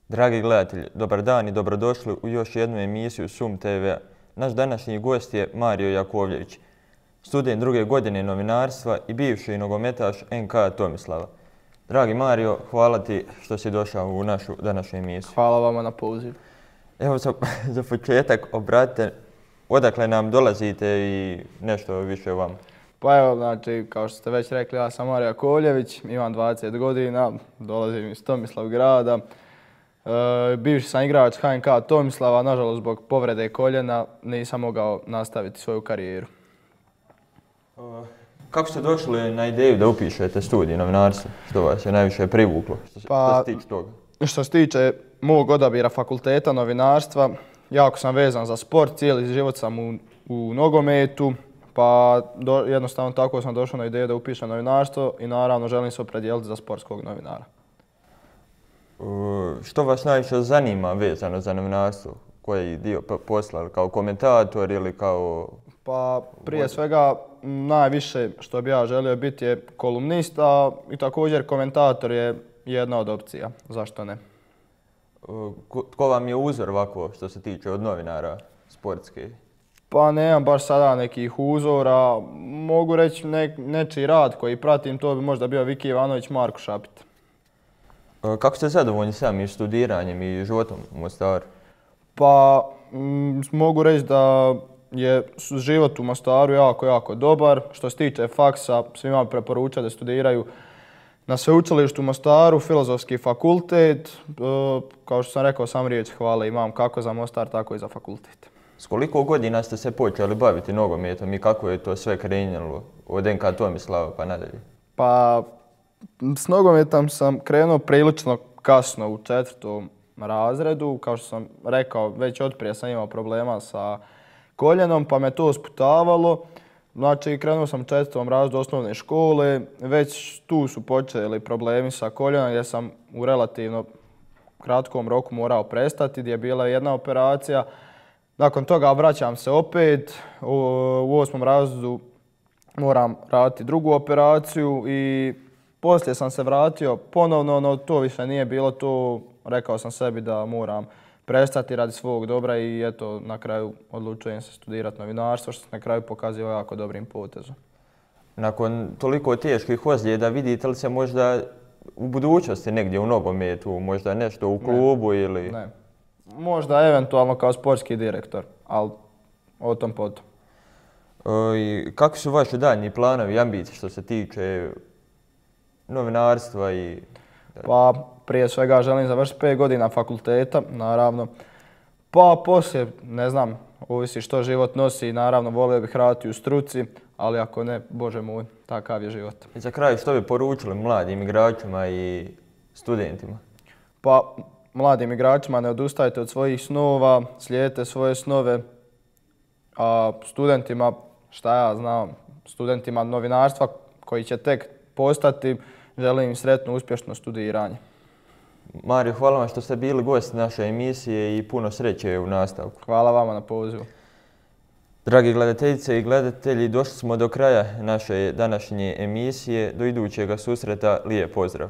Dragi gledatelji, dobar dan i dobrodošli u još jednu emisiju SUM TV-a. Naš današnji gost je Mario Jakovljević, student druge godine novinarstva i bivši nogometaš NK Tomislava. Dragi Mario, hvala ti što si došao u našu današnju emisiju. Hvala vama na pozivu. Evo za početak obratite odakle nam dolazite i nešto više o vama. Pa evo, znači, kao što ste već rekli, ja sam Mario Jakovljević, imam 20 godina, dolazim iz Tomislavgrada. Bivši sam igrač HNK Tomislava, nažalost zbog povrede koljena nisam mogao nastaviti svoju karijeru. Kako ste došli na ideju da upišete studij novinarstva? Što vas je najviše privuklo? Što se tiče toga? Što se tiče mog odabira fakulteta novinarstva, jako sam vezan za sport, cijeli život sam u nogometu, pa jednostavno tako sam došao na ideju da upišem novinarstvo i naravno želim se opredijeliti za sportskog novinara. Što vas najviše zanima vezano za novinarstvo? Koji dio posla, kao komentator ili kao... Pa prije svega najviše što bi ja želio biti je kolumnista i također komentator je jedna od opcija, zašto ne? Tko vam je uzor ovako što se tiče od novinara sportske? Pa nemam baš sada nekih uzora, mogu reći nečiji rad koji pratim, to bi možda bio Viki Ivanović, Marko Šapit. Kako ste zadovoljni samim studiranjem i životom u Mostaru? Pa mogu reći da je život u Mostaru jako dobar. Što se tiče faksa, svima bi preporučao da studiraju na sveučilištu u Mostaru, Filozofski fakultet. Kao što sam rekao, sam riječ hvale imam kako za Mostar, tako i za fakultet. S koliko godina ste se počeli baviti nogometom i kako je to sve krenulo od NK Tomislava pa nadalje? Pa s nogometom sam krenuo prilično kasno u 4. razredu. Kao što sam rekao, već otprije sam imao problema sa koljenom pa me to sputavalo. Znači, krenuo sam u 4. razredu osnovne škole, već tu su počeli problemi sa koljenom gdje sam u relativno kratkom roku morao prestati, gdje je bila jedna operacija. Nakon toga vraćam se opet, u 8. razredu moram raditi drugu operaciju i poslije sam se vratio ponovno, no to više nije bilo to. Rekao sam sebi da moram prestati radi svog dobra i eto, na kraju odlučujem se studirati novinarstvo, što se na kraju pokazuje jako dobrim potezom. Nakon toliko teških ozljeda, vidite li se možda u budućnosti negdje u nogometu, možda nešto u klubu ili... Ne. Možda eventualno kao sportski direktor, ali o tom potom. Kakvi su vaši daljnji planovi i ambicije što se tiče novinarstva i... Pa prije svega želim završiti 5 godina fakulteta, naravno. Pa poslije, ne znam, ovisi što život nosi, naravno volio bih raditi u struci, ali ako ne, Bože moj, takav je život. I za kraj, što bi poručili mladim igračima i studentima? Pa mladim igračima ne odustajte od svojih snova, slijedite svoje snove, a studentima, šta ja znam, studentima novinarstva koji će tek postati, želim im sretno, uspješno studiranje. Mario, hvala vam što ste bili gost naše emisije i puno sreće u nastavku. Hvala vama na pozivu. Dragi gledateljice i gledatelji, došli smo do kraja naše današnje emisije. Do idućega susreta, lijep pozdrav.